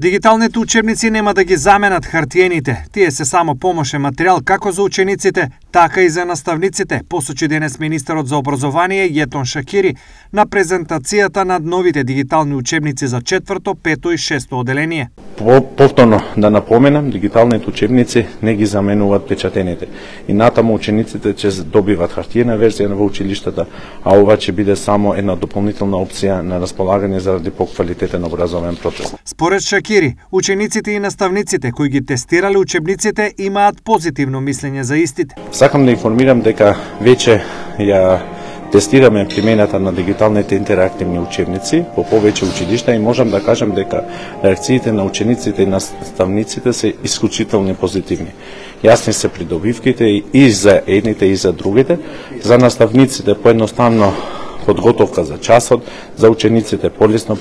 Дигиталните учебници нема да ги заменат хартиените. Тие се само помошен материјал како за учениците, така и за наставниците, посочи денес министерот за образование Јетон Шакири на презентацијата на новите дигитални учебници за 4-то, 5-то и 6-то оделение. Повторно да напоменам, дигиталните учебници не ги заменуваат печатените. И натаму учениците ќе добиват хартиена верзија во училиштата, а ова ќе биде само една дополнителна опција на располагање заради поквалитетен образовен процес. Според Шакири, учениците и наставниците кои ги тестирале учебниците имаат позитивно мислење за истите. Сакам да информирам дека веќе ја тестираме примената на дигиталните интерактивни учебници по повеќе училишта и можам да кажам дека реакциите на учениците и наставниците се исклучително позитивни. Јасни се придобивките и за едните и за другите. За наставниците поедноставно подготовка за часот, за учениците полесно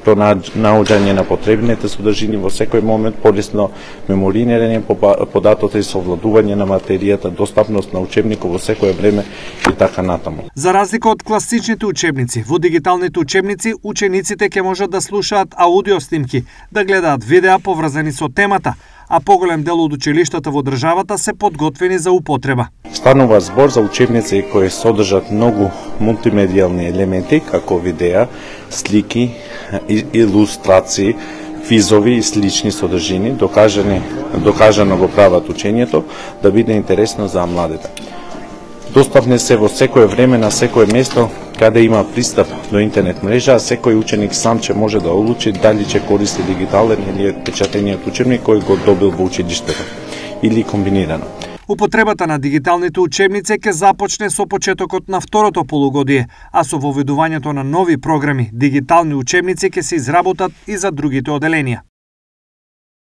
пронаоѓање на потребните содржини во секој момент, полесно меморирање податоци и совладување на материјата, достапност на учебникот во секое време и така натаму. За разлика од класичните учебници, во дигиталните учебници учениците ќе можат да слушаат аудио снимки, да гледаат видеа поврзани со темата, а поголем дел од училиштата во државата се подготвени за употреба. Станува збор за учебници кои содржат многу мултимедијални елементи, како видеа, слики, илустрации, квизови и слични содржини, докажано го прават учењето да биде интересно за младите. Достапни се во секое време на секое место каде има пристап до интернет мрежа, а секој ученик сам ќе може да одлучи дали ќе користи дигитален или печатениот учебник кој го добил во училиштето или комбинирано. Употребата на дигиталните учебници ќе започне со почетокот на второто полугодие, а со воведувањето на нови програми, дигитални учебници ќе се изработат и за другите оделенија.